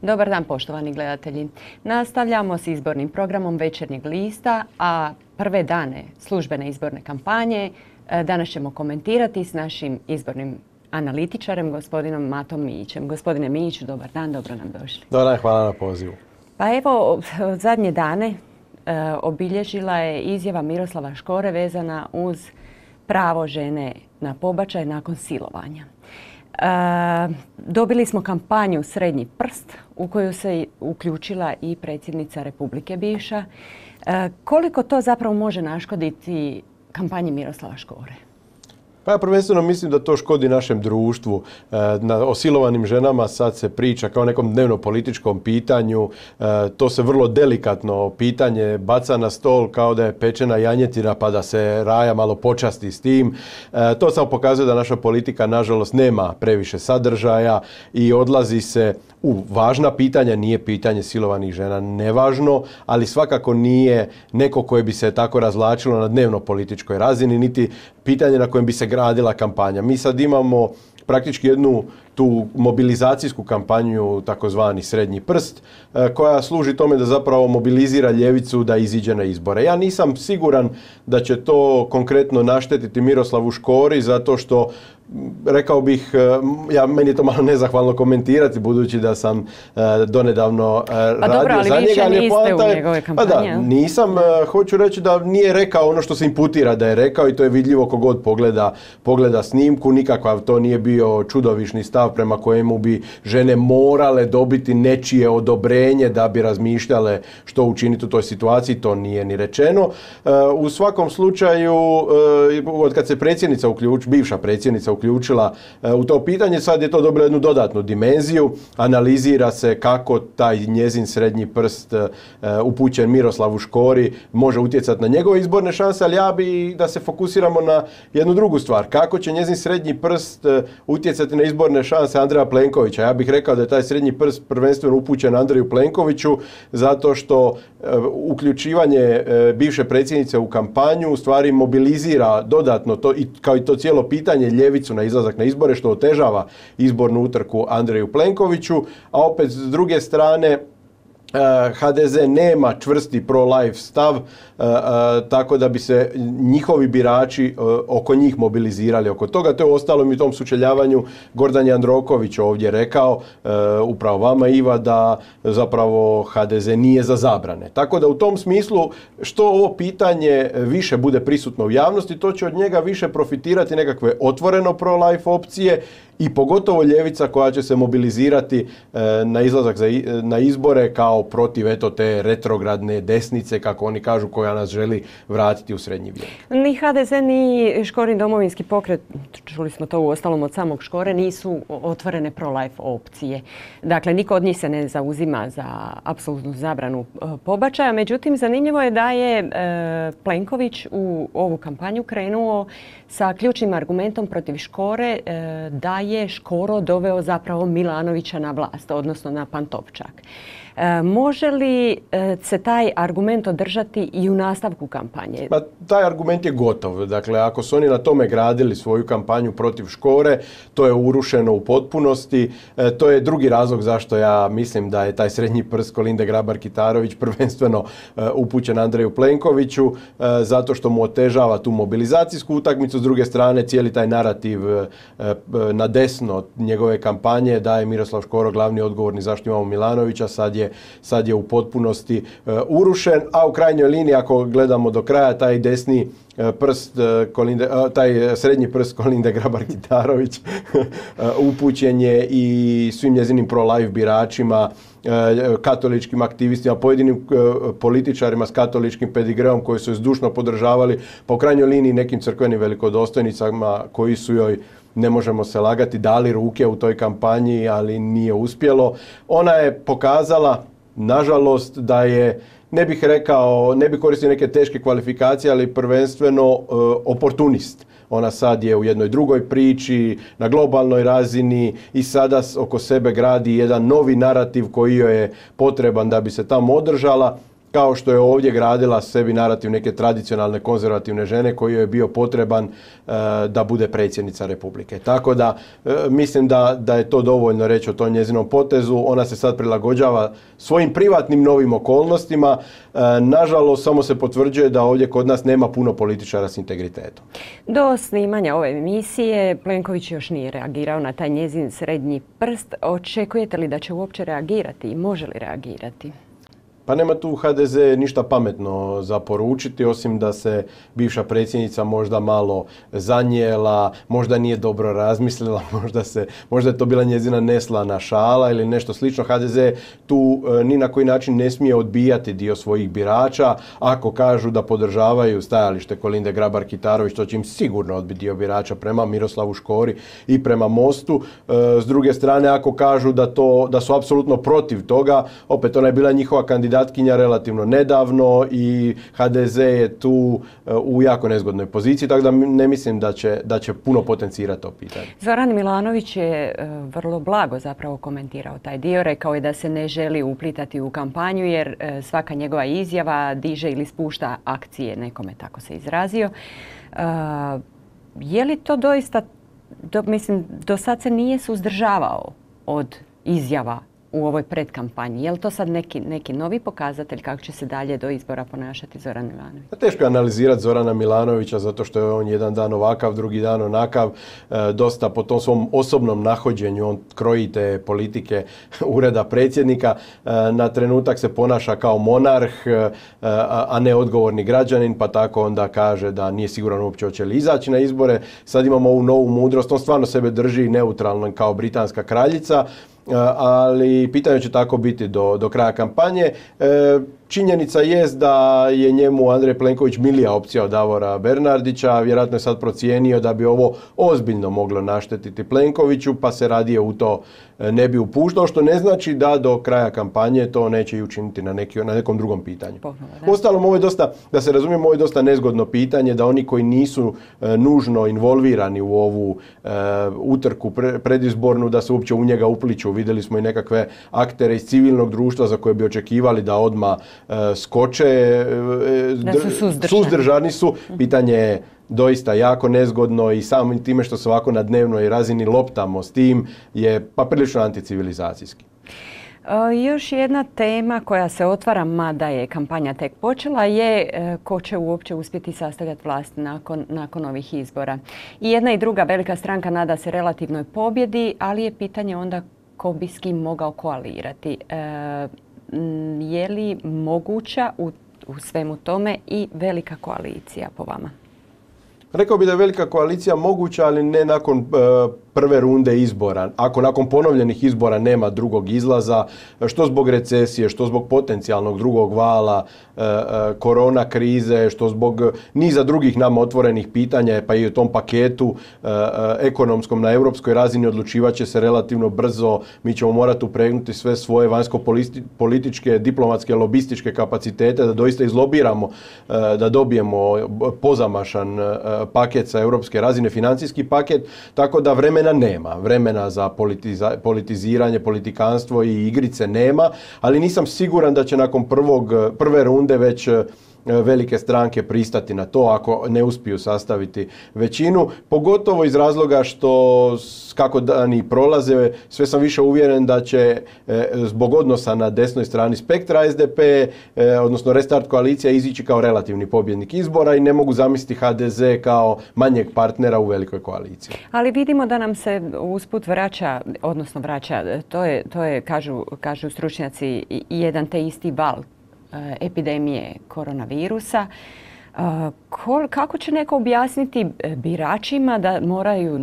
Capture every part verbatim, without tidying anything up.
Dobar dan, poštovani gledatelji. Nastavljamo s izbornim programom Večernjeg lista, a prve dane službene izborne kampanje danas ćemo komentirati s našim izbornim analitičarem, gospodinom Matom Mijićem. Gospodine Mijiću, dobar dan, dobro nam došli. Dobar dan, hvala na pozivu. Pa evo, zadnje dane e, obilježila je izjava Miroslava Škore vezana uz pravo žene na pobačaj nakon silovanja. E, dobili smo kampanju Srednji prst u koju se uključila i predsjednica Republike bivša. E, koliko to zapravo može naškoditi kampanji Miroslava Škore? Pa ja prvenstveno mislim da to škodi našem društvu. Na osilovanim ženama sad se priča kao nekom dnevno političkom pitanju. To se vrlo delikatno pitanje baca na stol kao da je pečena janjetina pa da se raja malo počasti s tim. To samo pokazuje da naša politika nažalost nema previše sadržaja i odlazi se u važna pitanja, nije pitanje silovanih žena nevažno, ali svakako nije neko koje bi se tako razvlačilo na dnevno političkoj razini, niti pitanje na kojem bi se gradila kampanja. Mi sad imamo praktički jednu tu mobilizacijsku kampanju, takozvani Srednji prst, koja služi tome da zapravo mobilizira ljevicu da iziđe na izbore. Ja nisam siguran da će to konkretno naštetiti Miroslavu Škori, zato što rekao bih, ja, meni je to malo nezahvalno komentirati, budući da sam uh, donedavno uh, radio dobro, ali za njega. Ali vi više niste u je, njegove kampanje. Pa da, nisam. Uh, hoću reći da nije rekao ono što se imputira da je rekao i to je vidljivo kogod pogleda, pogleda snimku. Nikakav to nije bio čudovišni stav prema kojemu bi žene morale dobiti nečije odobrenje da bi razmišljale što učiniti u toj situaciji. To nije ni rečeno. Uh, u svakom slučaju, uh, od kad se predsjednica uključ, bivša predsjednica uključila u to pitanje, sad je to dobilo jednu dodatnu dimenziju. Analizira se kako taj njezin srednji prst upućen Miroslavu Škori može utjecati na njegove izborne šanse, ali ja bi da se fokusiramo na jednu drugu stvar. Kako će njezin srednji prst utjecati na izborne šanse Andreja Plenkovića? Ja bih rekao da je taj srednji prst prvenstveno upućen Andreju Plenkoviću, zato što uključivanje bivše predsjednice u kampanju u stvari mobilizira dodatno to, i kao i to cijelo pitanje ljevicu na izlazak na izbore, što otežava izbornu utrku Andreju Plenkoviću, a opet s druge strane H D Z nema čvrsti pro-life stav, tako da bi se njihovi birači oko njih mobilizirali oko toga. To je uostalom i u tom sučeljavanju Gordan Jandroković ovdje rekao, upravo vama Iva, da zapravo H D Z nije za zabrane. Tako da u tom smislu što ovo pitanje više bude prisutno u javnosti, to će od njega više profitirati nekakve otvoreno pro-life opcije i pogotovo ljevica koja će se mobilizirati na izlazak na izbore kao protiv eto te retrogradne desnice, kako oni kažu, koja nas želi vratiti u srednji vijek. Ni H D Z ni Škorin domovinski pokret, čuli smo to uostalom od samog Škore, nisu otvorene pro-life opcije. Dakle, niko od njih se ne zauzima za apsolutnu zabranu pobačaja. Međutim, zanimljivo je da je Plenković u ovu kampanju krenuo sa ključnim argumentom protiv Škore da je Škoro doveo zapravo Milanovića na vlast, odnosno na Pantovčak. E, može li e, se taj argument održati i u nastavku kampanje? Pa, taj argument je gotov. Dakle, ako su oni na tome gradili svoju kampanju protiv Škore, to je urušeno u potpunosti. E, to je drugi razlog zašto ja mislim da je taj srednji prst Kolinde Grabar-Kitarović prvenstveno e, upućen Andreju Plenkoviću, e, zato što mu otežava tu mobilizacijsku utakmicu. S druge strane, cijeli taj narativ e, na desno njegove kampanje da je Miroslav Škoro glavni odgovorni zašto imamo Milanovića, sad je sad je u potpunosti uh, urušen, a u krajnjoj liniji ako gledamo do kraja taj desni uh, prst, uh, Kolinde, uh, taj srednji prst Kolinde Grabar-Kitarović uh, upućen je i svim njezinim pro-life biračima, uh, katoličkim aktivistima, pojedinim uh, političarima s katoličkim pedigreom koji su je zdušno podržavali, po krajnjoj liniji nekim crkvenim velikodostojnicama koji su joj, ne možemo se lagati, dali ruke u toj kampanji, ali nije uspjelo. Ona je pokazala, nažalost, da je, ne bih rekao, ne bih koristio neke teške kvalifikacije, ali prvenstveno uh, oportunist. Ona sad je u jednoj drugoj priči, na globalnoj razini i sada oko sebe gradi jedan novi narativ koji joj je potreban da bi se tamo održala. kao što je ovdje gradila sebi narativ neke tradicionalne konzervativne žene koji joj je bio potreban e, da bude predsjednica Republike. Tako da e, mislim da, da je to dovoljno reći o tom njezinom potezu. Ona se sad prilagođava svojim privatnim novim okolnostima. E, nažalost, samo se potvrđuje da ovdje kod nas nema puno političara s integritetom. Do snimanja ove emisije Plenković još nije reagirao na taj njezin srednji prst. Očekujete li da će uopće reagirati i može li reagirati? Pa nema tu ha de ze ništa pametno za poručiti, osim da se bivša predsjednica možda malo zanijela, možda nije dobro razmislila, možda, se, možda je to bila njezina neslana šala ili nešto slično. ha de ze tu e, ni na koji način ne smije odbijati dio svojih birača. Ako kažu da podržavaju stajalište Kolinde Grabar-Kitarović, to će im sigurno odbiti dio birača prema Miroslavu Škori i prema Mostu. E, s druge strane, ako kažu da, to, da su apsolutno protiv toga, opet ona je bila njihova kandidatkinja relativno nedavno i ha de ze je tu u jako nezgodnoj poziciji, tako da ne mislim da će, da će puno potencirati to pitanje. Zoran Milanović je vrlo blago zapravo komentirao taj dio. Rekao je da se ne želi uplitati u kampanju jer svaka njegova izjava diže ili spušta akcije, nekome tako se izrazio. Je li to doista, do, mislim, do sad se nije suzdržavao od izjava u ovoj predkampanji? Je li to sad neki, neki novi pokazatelj kako će se dalje do izbora ponašati Zoran Milanović? Teško je analizirati Zorana Milanovića zato što je on jedan dan ovakav, drugi dan onakav. E, dosta po tom svom osobnom nahođenju on kroji te politike ureda predsjednika. E, na trenutak se ponaša kao monarh, e, a ne odgovorni građanin, pa tako onda kaže da nije siguran uopće hoće li izaći na izbore. Sad imamo ovu novu mudrost, on stvarno sebe drži neutralno kao britanska kraljica, ali pitanje će tako biti do, do kraja kampanje. E, činjenica jest da je njemu Andrej Plenković milija opcija od Davora Bernardića, vjerojatno je sad procijenio da bi ovo ozbiljno moglo naštetiti Plenkoviću, pa se radije u to ne bi upuštao, što ne znači da do kraja kampanje to neće i učiniti na, neki, na nekom drugom pitanju. Uostalom, ovo je dosta, da se razumijemo, ovo je dosta nezgodno pitanje, da oni koji nisu e, nužno involvirani u ovu e, utrku pre, predizbornu, da se uopće u njega upliču. Vidjeli smo i nekakve aktere iz civilnog društva za koje bi očekivali da odmah e, skoče. E, da su suzdržani. Suzdržani su. Pitanje je doista jako nezgodno i samim time što se ovako na dnevnoj razini loptamo s tim je pa prilično anticivilizacijski. E, još jedna tema koja se otvara, mada je kampanja tek počela, je e, ko će uopće uspjeti sastavljati vlast nakon, nakon ovih izbora. I jedna i druga velika stranka nada se relativnoj pobjedi, ali je pitanje onda ko bi s kim mogao koalirati. E, je li moguća u, u svemu tome i velika koalicija po vama? Rekao bi da je velika koalicija moguća, ali ne nakon e, prve runde izbora. Ako nakon ponovljenih izbora nema drugog izlaza, što zbog recesije, što zbog potencijalnog drugog vala, e, e, korona krize, što zbog niza drugih nama otvorenih pitanja, pa i u tom paketu e, e, ekonomskom na europskoj razini odlučivat će se relativno brzo. Mi ćemo morati upregnuti sve svoje vanjsko-političke, diplomatske, lobističke kapacitete da doista izlobiramo, e, da dobijemo pozamašan e, paket sa europske razine, financijski paket, tako da vremena nema. Vremena za politiza, politiziranje, politikanstvo i igrice nema, ali nisam siguran da će nakon prvog, prve runde već velike stranke pristati na to ako ne uspiju sastaviti većinu, pogotovo iz razloga što kako dani prolaze, sve sam više uvjeren da će e, zbog odnosa na desnoj strani spektra es de pe, e, odnosno Restart koalicija, izići kao relativni pobjednik izbora i ne mogu zamisliti ha de ze kao manjeg partnera u velikoj koaliciji. Ali vidimo da nam se usput vraća, odnosno vraća, to je, to je kažu, kažu stručnjaci, jedan te isti val epidemije koronavirusa. Kako će neko objasniti biračima da moraju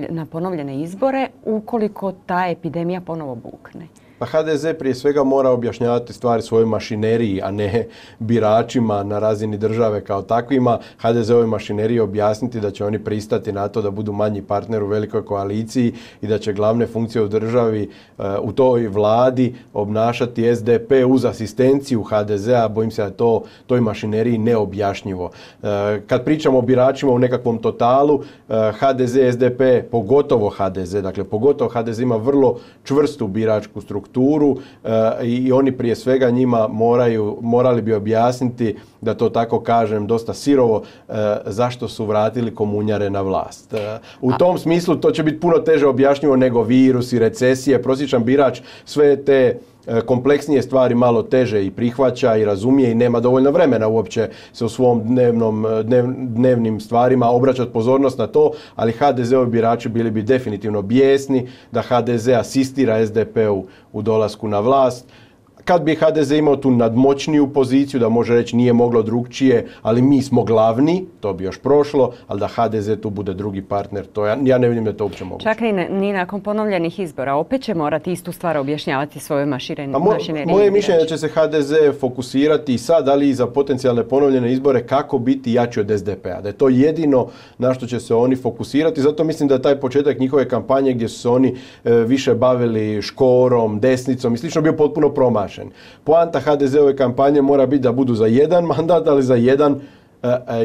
na ponovljene izbore ukoliko ta epidemija ponovo bukne? Pa ha de ze prije svega mora objašnjavati stvari svojoj mašineriji, a ne biračima na razini države kao takvima. ha de ze ovoj mašineriji objasniti da će oni pristati na to da budu manji partner u velikoj koaliciji i da će glavne funkcije u državi u toj vladi obnašati es de pe uz asistenciju ha de zea. Bojim se da je to toj mašineriji neobjašnjivo. Kad pričamo o biračima u nekakvom totalu, ha de ze, es de pe, pogotovo ha de ze, dakle pogotovo ha de ze ima vrlo čvrstu biračku strukturu strukturu i oni prije svega njima moraju, morali bi objasniti, da to tako kažem, dosta sirovo, zašto su vratili komunjare na vlast. U tom smislu to će biti puno teže objašnjivo nego virus i recesije. Prosječan birač sve te kompleksnije stvari malo teže i prihvaća i razumije i nema dovoljno vremena uopće se u svom dnevnom, dnev, dnevnim stvarima obraćati pozornost na to, ali ha de ze-ovi birači bili bi definitivno bijesni da ha de ze asistira es de pe-u u dolasku na vlast. Kad bi ha de ze imao tu nadmoćniju poziciju, da može reći nije moglo drugčije, ali mi smo glavni, to bi još prošlo, ali da ha de ze tu bude drugi partner, to ja, ja ne vidim da to uopće moguće. Čak ni, ni nakon ponovljenih izbora, opet će morati istu stvar objašnjavati svoje mašineriji. Mo, moje mišljenje da će se ha de ze fokusirati i sad, ali i za potencijalne ponovljene izbore, kako biti jači od es de pe-a. Da je to jedino na što će se oni fokusirati. Zato mislim da taj početak njihove kampanje gdje su se oni e, više bavili Škorom, desnicom i slično bio potpuno promašen. Poanta ha de ze-ove kampanje mora biti da budu za jedan mandat, ali za jedan uh,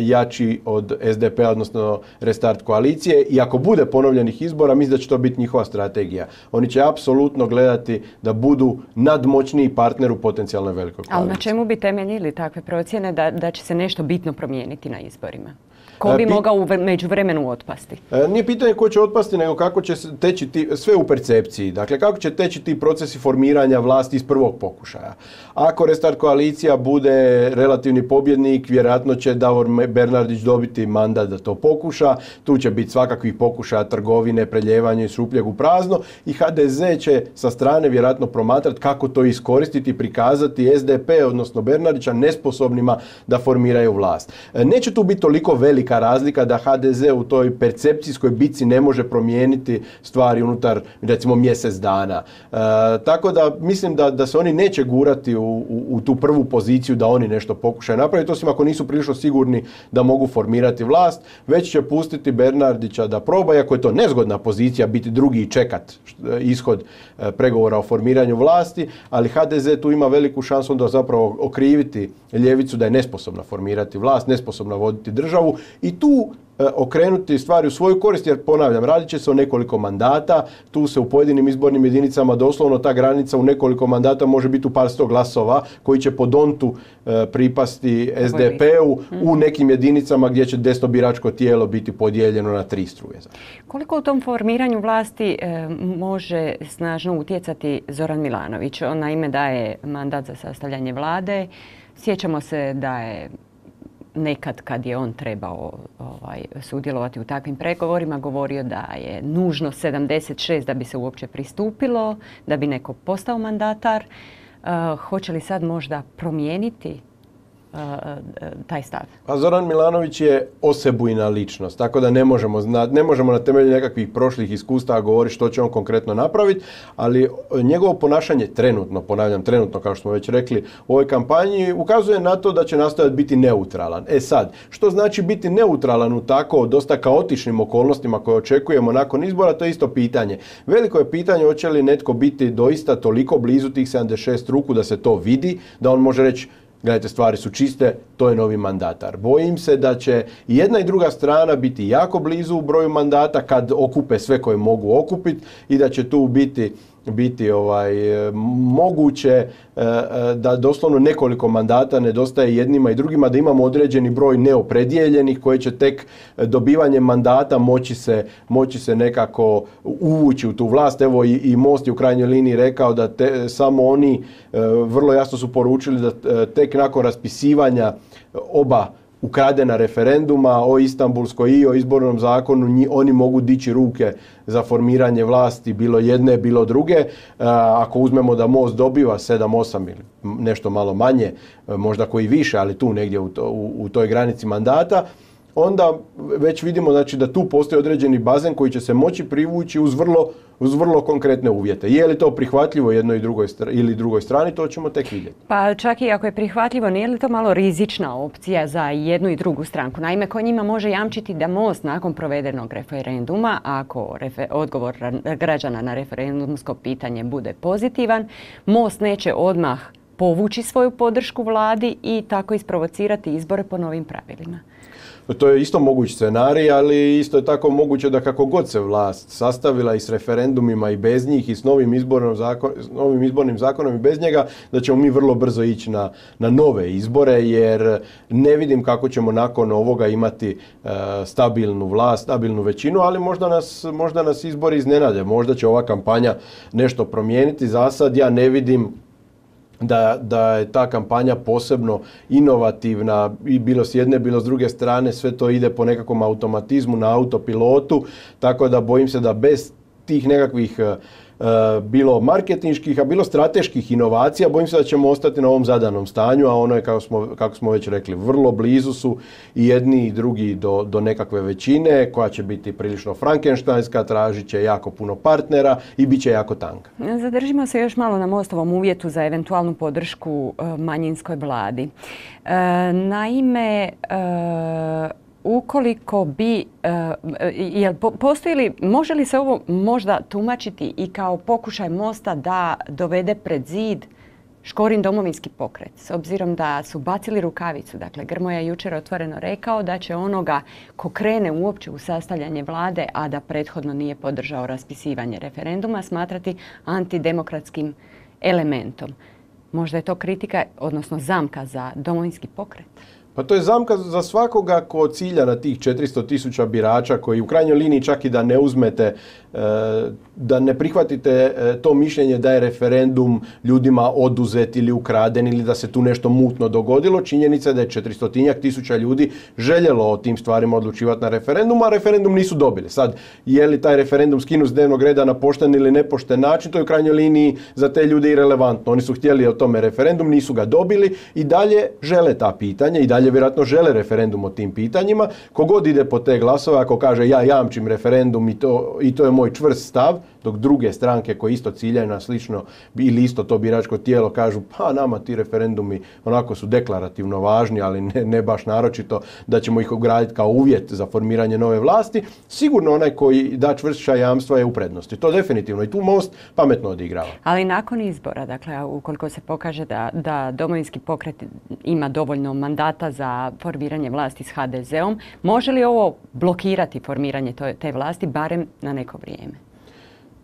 jači od es de pe-a, odnosno restart koalicije. I ako bude ponovljenih izbora, mislim da će to biti njihova strategija. Oni će apsolutno gledati da budu nadmoćniji partner u potencijalnoj velikoj koaliciji. Ali na čemu bi temeljili takve procjene da, da će se nešto bitno promijeniti na izborima? Ko bi Pi... mogao u međuvremenu otpasti? E, nije pitanje ko će otpasti, nego kako će teći ti, sve u percepciji. Dakle, kako će teći ti procesi formiranja vlasti iz prvog pokušaja. Ako restart koalicija bude relativni pobjednik, vjerojatno će Davor Bernardić dobiti mandat da to pokuša. Tu će biti svakakvih pokušaja trgovine, preljevanja iz šupljeg u prazno i ha de ze će sa strane vjerojatno promatrati kako to iskoristiti i prikazati es de pe, odnosno Bernardića, nesposobnima da formiraju vlast. E, neće tu biti toliko velika razlika da ha de ze u toj percepcijskoj bitci ne može promijeniti stvari unutar, recimo, mjesec dana. E, tako da mislim da, da se oni neće gurati u, u, u tu prvu poziciju da oni nešto pokušaju napraviti, osim ako nisu prilično sigurni da mogu formirati vlast, već će pustiti Bernardića da proba, iako je to nezgodna pozicija biti drugi i čekat ishod e, pregovora o formiranju vlasti, ali ha de ze tu ima veliku šansu onda zapravo okriviti ljevicu da je nesposobna formirati vlast, nesposobna voditi državu i tu e, okrenuti stvari u svoju korist, jer ponavljam, radit će se o nekoliko mandata, tu se u pojedinim izbornim jedinicama doslovno ta granica u nekoliko mandata može biti u par sto glasova koji će po dontu e, pripasti es de pe-u u nekim jedinicama gdje će desno biračko tijelo biti podijeljeno na tri struje. Koliko u tom formiranju vlasti e, može snažno utjecati Zoran Milanović? On naime daje mandat za sastavljanje vlade. Sjećamo se da je nekad kad je on trebao ovaj, sudjelovati u takvim pregovorima govorio da je nužno sedamdeset šest da bi se uopće pristupilo, da bi neko postao mandatar. Uh, hoće li sad možda promijeniti uh, taj stav? Pa Zoran Milanović je osebujna ličnost, tako da ne možemo, znati, ne možemo na temelju nekakvih prošlih iskustava govoriti što će on konkretno napraviti, ali njegovo ponašanje trenutno, ponavljam trenutno kao što smo već rekli u ovoj kampanji, ukazuje na to da će nastojati biti neutralan. E sad, što znači biti neutralan u tako dosta kaotičnim okolnostima koje očekujemo nakon izbora, to je isto pitanje. Veliko je pitanje hoće li netko biti doista toliko blizu tih sedamdeset šest ruku da se to vidi, da on može reći gledajte, stvari su čiste, to je novi mandatar. Bojim se da će jedna i druga strana biti jako blizu u broju mandata kad okupe sve koje mogu okupiti i da će tu biti biti ovaj, moguće da doslovno nekoliko mandata nedostaje jednima i drugima, da imamo određeni broj neopredijeljenih koji će tek dobivanjem mandata moći se, moći se nekako uvući u tu vlast. Evo i, i Most je u krajnjoj liniji rekao da te, samo oni vrlo jasno su poručili da tek nakon raspisivanja oba ukradena referenduma o Istanbulskoj i o izbornom zakonu, oni mogu dići ruke za formiranje vlasti, bilo jedne, bilo druge. Ako uzmemo da Most dobiva sedam osam ili nešto malo manje, možda koji više, ali tu negdje u, to, u, u toj granici mandata, onda već vidimo znači, da tu postoji određeni bazen koji će se moći privući uz vrlo, uz vrlo konkretne uvjete. Je li to prihvatljivo jednoj i drugoj ili drugoj strani, to ćemo tek vidjeti. Pa čak i ako je prihvatljivo, nije li to malo rizična opcija za jednu i drugu stranku? Naime, ko njima može jamčiti da Most nakon provedenog referenduma, ako refer- odgovor građana na referendumsko pitanje bude pozitivan, Most neće odmah povući svoju podršku vladi i tako isprovocirati izbore po novim pravilima. To je isto moguć scenarij, ali isto je tako moguće da kako god se vlast sastavila i s referendumima i bez njih i s novim, zakon, s novim izbornim zakonom i bez njega, da ćemo mi vrlo brzo ići na, na nove izbore, jer ne vidim kako ćemo nakon ovoga imati e, stabilnu vlast, stabilnu većinu, ali možda nas, možda nas izbori iznenade, možda će ova kampanja nešto promijeniti. Za sad ja ne vidim Da, da je ta kampanja posebno inovativna i bilo s jedne, bilo s druge strane, sve to ide po nekakvom automatizmu, na autopilotu, tako da bojim se da bez tih nekakvih bilo marketinških, a bilo strateških inovacija, bojim se da ćemo ostati na ovom zadanom stanju, a ono je, kako smo, kako smo već rekli, vrlo blizu su i jedni i drugi do, do nekakve većine, koja će biti prilično frankenštajnska, tražit će jako puno partnera i bit će jako tanka. Zadržimo se još malo na Mostovom uvjetu za eventualnu podršku manjinskoj vladi. Naime, ukoliko bi, jel postoji li, može li se ovo možda tumačiti i kao pokušaj Mosta da dovede pred zid Škorin Domovinski pokret, s obzirom da su bacili rukavicu. Dakle, Grmoja je jučer otvoreno rekao da će onoga ko krene uopće u sastavljanje vlade, a da prethodno nije podržao raspisivanje referenduma, smatrati antidemokratskim elementom. Možda je to kritika, odnosno zamka za Domovinski pokret? Pa to je zamka za svakoga ko cilja na tih četiristo tisuća birača koji u krajnjoj liniji čak i da ne uzmete, da ne prihvatite to mišljenje da je referendum ljudima oduzet ili ukraden ili da se tu nešto mutno dogodilo. Činjenica je da je četiristotinjak tisuća ljudi željelo o tim stvarima odlučivati na referendumu, a referendum nisu dobili. Sad, je li taj referendum skinut s dnevnog reda na pošten ili nepošten način, to je u krajnjoj liniji za te ljude irelevantno. Oni su htjeli o tome referendum, nisu ga dobili i dalje žele ta pitanja i dalje vjerojatno žele referendum o tim pitanjima. Kogod ide po te glasove, ako kaže ja jamčim referendum i to, i to je moj čvrst stav, dok druge stranke koje isto ciljaju na slično ili isto to biračko tijelo kažu pa nama ti referendumi onako su deklarativno važni, ali ne, ne baš naročito da ćemo ih ugraditi kao uvjet za formiranje nove vlasti, sigurno onaj koji da čvršća jamstva je u prednosti. To definitivno i tu Most pametno odigrava. Ali nakon izbora, dakle, ukoliko se pokaže da, da Domovinski pokret ima dovoljno mandata za formiranje vlasti s ha de zeom, može li ovo blokirati formiranje te vlasti barem na neko vrijeme?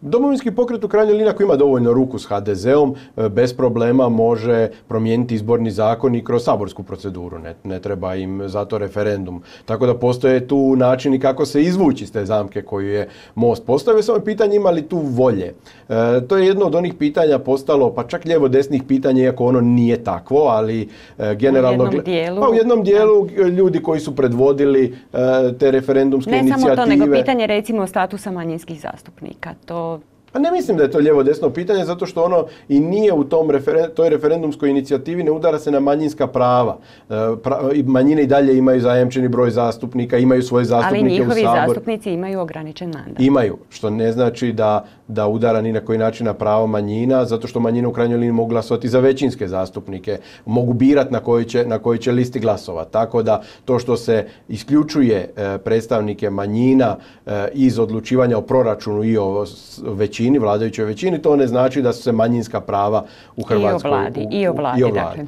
Domovinski pokret u krajnjoj liniji ako ima dovoljno ruku s ha de zeom, bez problema može promijeniti izborni zakon i kroz saborsku proceduru. Ne, ne treba im zato referendum. Tako da postoje tu načini kako se izvući iz te zamke koju je Most postavio. Samo pitanje ima li tu volje. E, to je jedno od onih pitanja postalo, pa čak lijevo-desnih pitanja, iako ono nije takvo, ali e, generalno... U jednom dijelu... Pa u jednom dijelu ljudi koji su predvodili e, te referendumske ne inicijative... Ne samo to, nego pitanje recimo statusa manjinskih zastupnika. To... Pa ne mislim da je to lijevo-desno pitanje, zato što ono i nije u tom referen- toj referendumskoj inicijativi, ne udara se na manjinska prava. E, pra, manjine i dalje imaju zajamčeni broj zastupnika, imaju svoje zastupnike u Saboru. Ali njihovi zastupnici imaju ograničen mandat. Imaju, što ne znači da, da udara ni na koji način na pravo manjina, zato što manjine u krajnjoj liniji mogu glasovati za većinske zastupnike, mogu birati na koji će, na koji će listi glasova. Tako da to što se isključuje e, predstavnike manjina e, iz odlučivanja o proračunu i o većini, vladajućoj većini, to ne znači da su se manjinska prava u Hrvatskoj... I o vladi, u, u, i o vladi, i o vladi. Dakle.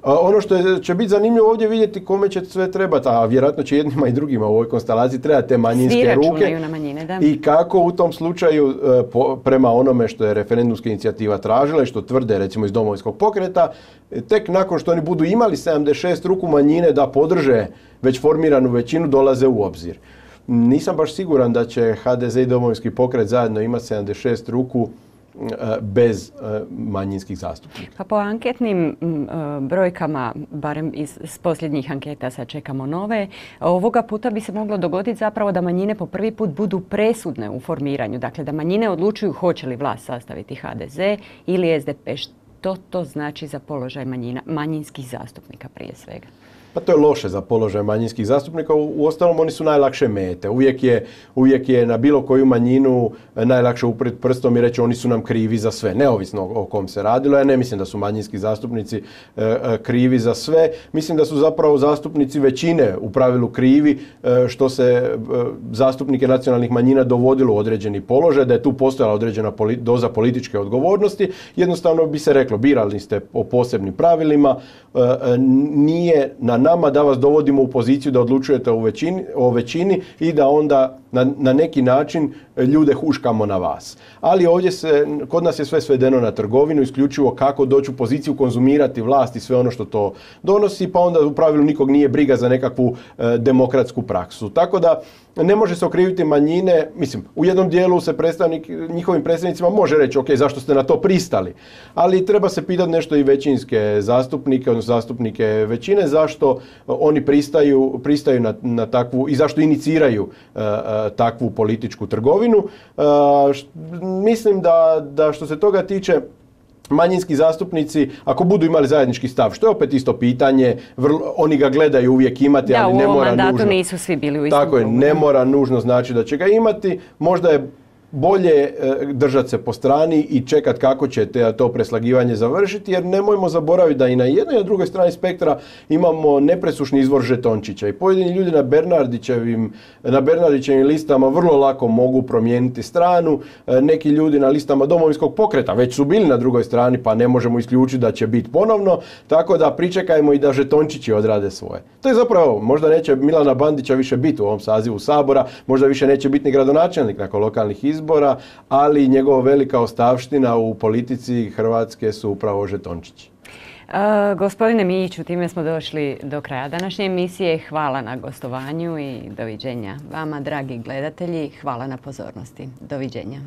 Ono što je, će biti zanimljivo ovdje vidjeti kome će sve trebati, a vjerojatno će jednima i drugima u ovoj konstelaciji trebati te manjinske ruke. Na manjine, da. I kako u tom slučaju po, prema onome što je referendumska inicijativa tražila i što tvrde recimo iz Domovinskog pokreta, tek nakon što oni budu imali sedamdeset šest ruku manjine da podrže već formiranu većinu dolaze u obzir. Nisam baš siguran da će ha de ze i Domovinski pokret zajedno imati sedamdeset šest ruku bez manjinskih zastupnika. Pa po anketnim brojkama, barem iz, iz posljednjih anketa, sad čekamo nove, ovoga puta bi se moglo dogoditi zapravo da manjine po prvi put budu presudne u formiranju. Dakle, da manjine odlučuju hoće li vlast sastaviti ha de ze ili es de pe. Što to znači za položaj manjina, manjinskih zastupnika prije svega? Pa to je loše za položaj manjinskih zastupnika. Uostalom, oni su najlakše mete. Uvijek je, uvijek je na bilo koju manjinu najlakše uprijeti prstom i reći oni su nam krivi za sve, neovisno o kom se radilo. Ja ne mislim da su manjinski zastupnici krivi za sve. Mislim da su zapravo zastupnici većine u pravilu krivi što se zastupnike nacionalnih manjina dovodilo u određeni položaj, da je tu postojala određena doza političke odgovornosti. Jednostavno bi se reklo, birali ste po posebnim pravilima, nije na nama da vas dovodimo u poziciju da odlučujete o većini, o većini i da onda na, na neki način ljude huškamo na vas. Ali ovdje se, kod nas je sve svedeno na trgovinu, isključivo kako doći u poziciju konzumirati vlast i sve ono što to donosi, pa onda u pravilu nikog nije briga za nekakvu e, demokratsku praksu. Tako da ne može se okriviti manjine, mislim, u jednom dijelu se predstavnik, njihovim predstavnicima može reći, ok, zašto ste na to pristali, ali treba se pitati nešto i većinske zastupnike, odnosno zastupnike većine, zašto oni pristaju, pristaju na, na takvu i zašto iniciraju uh, takvu političku trgovinu. Uh, š, mislim da, da što se toga tiče, manjinski zastupnici, ako budu imali zajednički stav, što je opet isto pitanje, vrlo, oni ga gledaju uvijek imati, da, ali ne mora nužno. Da, u ovom mandatu nisu svi bili u istom. Tako je, ne mora nužno znači da će ga imati. Možda je bolje držati se po strani i čekati kako će te, to preslagivanje završiti, jer nemojmo zaboraviti da i na jednoj i na drugoj strani spektra imamo nepresušni izvor žetončića i pojedini ljudi na Bernardićevim, na Bernardićevim listama vrlo lako mogu promijeniti stranu. Neki ljudi na listama Domovinskog pokreta već su bili na drugoj strani, pa ne možemo isključiti da će biti ponovno, tako da pričekajmo i da žetončići odrade svoje. To je zapravo, možda neće Milana Bandića više biti u ovom sazivu Sabora, možda više neće biti ni gradonačelnik nakon lokalnih izbora, izbora, ali njegova velika ostavština u politici Hrvatske su upravo žetončići. Uh, gospodine Mijiću, time smo došli do kraja današnje emisije. Hvala na gostovanju i doviđenja. Vama, dragi gledatelji, hvala na pozornosti. Doviđenja.